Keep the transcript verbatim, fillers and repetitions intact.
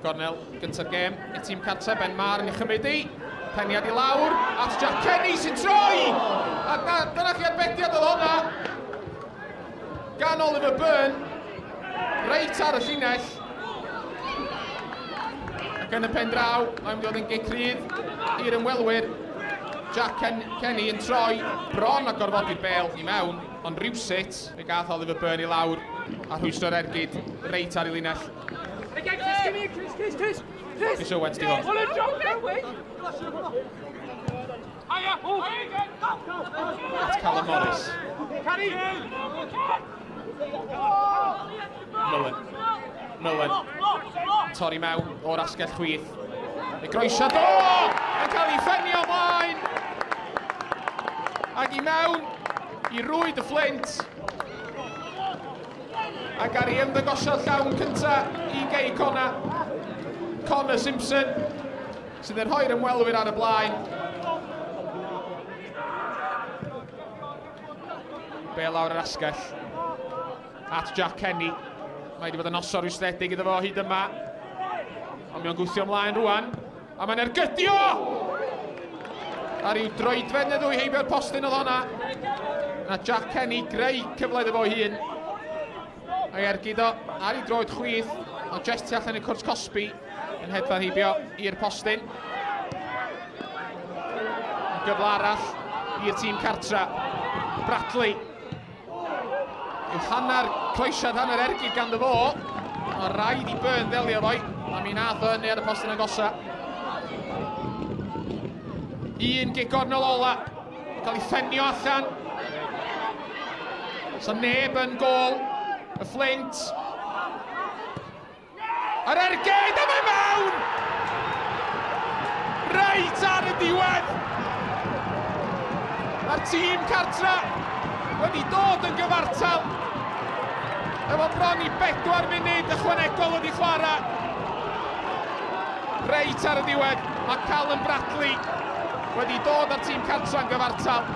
Gornel gynta'r gêm i'r tîm cartre, Ben Marr yn ei chymryd i. Peniad i lawr at Jack Kenny sy'n troi! A na, dyna chi arbediad oedd hwnna gan Oliver Byrne, reit ar y llinell. Ac yn y pen draw, mae'n mynd i fod yn gic rydd i'r ymwelwyr. Jack Ken Kenny yn troi bron a gorfodi'r bêl i mewn, ond rhywsut fe gath Oliver Byrne i lawr a rhwystro'r ergyd reit ar ei linell. Chris Owens di hwn. At Callum Morris. Mullen. Mullen. Torri mewn o'r asgell chwith. Y groesiad o! Yn cael ei ffenio ymlaen! Ac i mewn i rwyd y Fflint. Ac ar ei ymddangosiad llawn cynta i Gei Connah, Connor Simpson, sydd yn rhoi'r ymwelwyr ar y blaen. Bêl lawr yr asgell at Jack Kenny. Mae wedi bod yn noson rwystredig iddo fo hyd yma. Ond mae o'n gwthio ymlaen rwan. A mae'n ergydio! Ar i'w droedfedd neu ddwy heibio'r postyn oedd honna. Na Jack Kenny greu cyfle iddo fo hun. A'i ergyd o ar ei droed chwith. Ond jyst tu allan i'r cwrt cosbi yn hedfan heibio i'r postyn. Gyfle arall i'r tîm cartra. Bradley. Yw hanner croesiad, hanner ergyd ganddo fo. Mae rhaid i Byrne ddelio fo'i. A mi nath o hynny ar y postyn agosa. Un gic gornel ola. Cael ei ffenio allan. So neb yn gôl. Y Fflint. Yr ergyd, a mae mewn! Reit ar y diwedd! Mae'r tîm cartra wedi dod yn gyfartal. Efo bron i bedwar munud ychwanegol wedi chwarae. Reit ar y diwedd, mae Callum Bradley wedi dod â'r tîm cartra yn gyfartal.